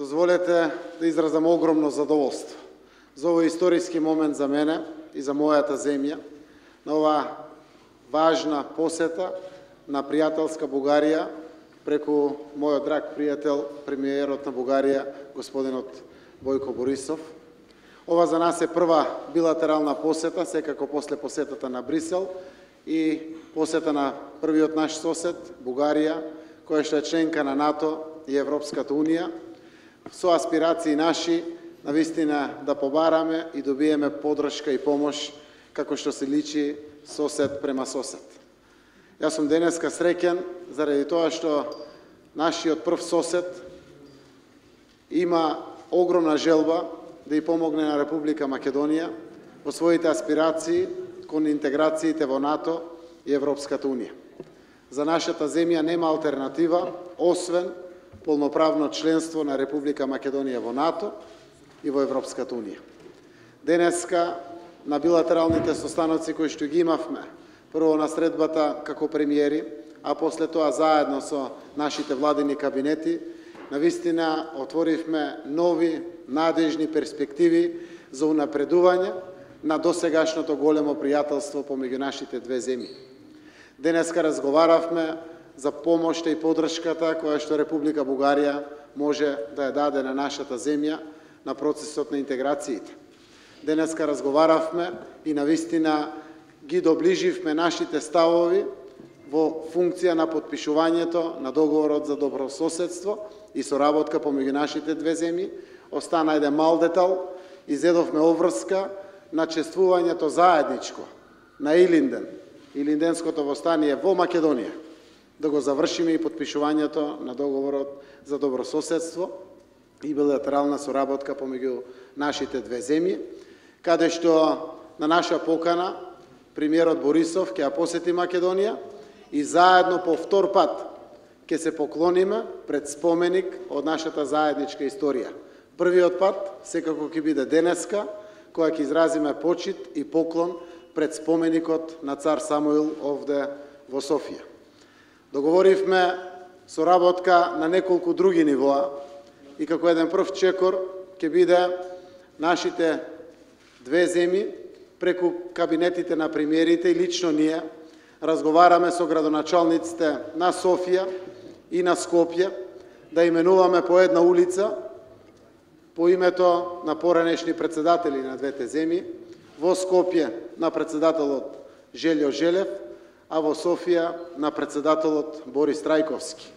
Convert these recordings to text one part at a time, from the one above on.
Дозволете да изразам огромно задоволство за овој историски момент за мене и за мојата земја, на ова важна посета на пријателска Бугарија преку мојот драг пријател, премиерот на Бугарија, господинот Бојко Борисов. Ова за нас е прва билатерална посета, секако после посетата на Брисел и посета на првиот наш сосед, Бугарија, која што е членка на НАТО и Европската Унија, со аспирации наши, навистина да побараме и добиеме подршка и помош, како што се личи сосед према сосед. Јас сум денеска среќен заради тоа што нашиот прв сосед има огромна желба да и помогне на Република Македонија во своите аспирации кон интеграциите во НАТО и Европската Унија. За нашата земја нема алтернатива, освен полноправно членство на Република Македонија во НАТО и во Европската Унија. Денеска, на билатералните состаноци кои што ги имавме, прво на средбата како премиери, а после тоа заедно со нашите владини кабинети, навистина отворивме нови, надежни перспективи за унапредување на досегашното големо пријателство помеѓу нашите две земји. Денеска разговаравме за помошта и подршката која што Република Бугарија може да ја даде на нашата земја на процесот на интеграциите. Денеска разговаравме и навистина ги доближивме нашите ставови во функција на потпишувањето на договорот за добрососедство и соработка помеѓу нашите две земји. Остана еден мал детал, изедовме обврска на чествувањето заедничко на Илинден, Илинденското востание во Македонија, да го завршиме и потпишувањето на договорот за добрососедство и билатерална соработка помеѓу нашите две земји, каде што на наша покана премиерот Борисов ќе ја посети Македонија и заедно по втор пат ќе се поклониме пред споменик од нашата заедничка историја. Првиот пат секако ќе биде денеска, која ќе изразиме почит и поклон пред споменикот на цар Самуил овде во Софија. Договоривме соработка на неколку други нивоа и како еден прв чекор ќе биде нашите две земји преку кабинетите на премиерите и лично ние разговараме со градоначалниците на Софија и на Скопје да именуваме по една улица по името на поранешни председатели на двете земји, во Скопје на председателот Желјо Желев, а во Софија на председателот Борис Трајковски,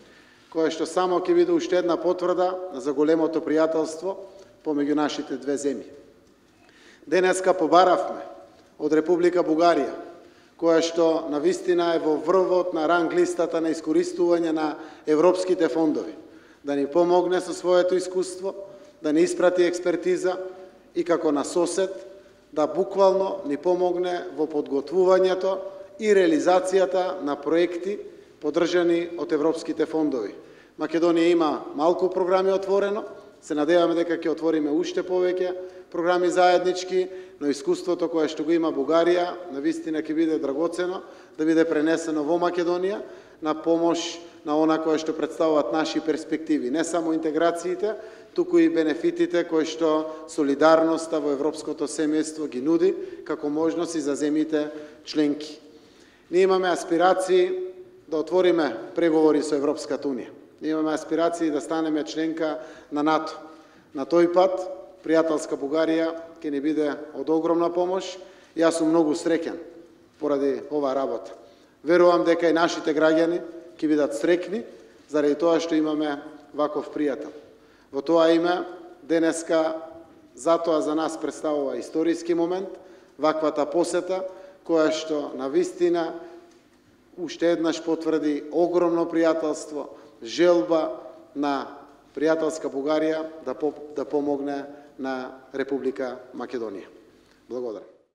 која што само ќе биде уште една потврда за големото пријателство помеѓу нашите две земји. Денеска побаравме од Република Бугарија, која што навистина е во врвот на ранг листата на искористување на европските фондови, да ни помогне со своето искуство, да ни испрати експертиза и како на сосед да буквално ни помогне во подготвувањето и реализацијата на проекти поддржани од европските фондови. Македонија има малку програми отворено, се надеваме дека ќе отвориме уште повеќе програми заеднички, но искуството кое што го има Бугарија навистина ќе биде драгоцено да биде пренесено во Македонија на помош на она кое што представуваат наши перспективи, не само интеграциите, туку и бенефитите кои што солидарноста во европското семејство ги нуди како можност и за земјите членки. Ние имаме аспирации да отвориме преговори со Европската Унија. Ние имаме аспирации да станеме членка на НАТО. На тој пат пријателска Бугарија ќе ни биде од огромна помош и јас сум многу среќен поради оваа работа. Верувам дека и нашите граѓани ќе бидат среќни заради тоа што имаме ваков пријател. Во тоа име, денеска, затоа за нас представува историски момент, ваквата посета, која што навистина уште еднаш потврди огромно пријателство, желба на пријателска Бугарија да помогне на Република Македонија. Благодарам.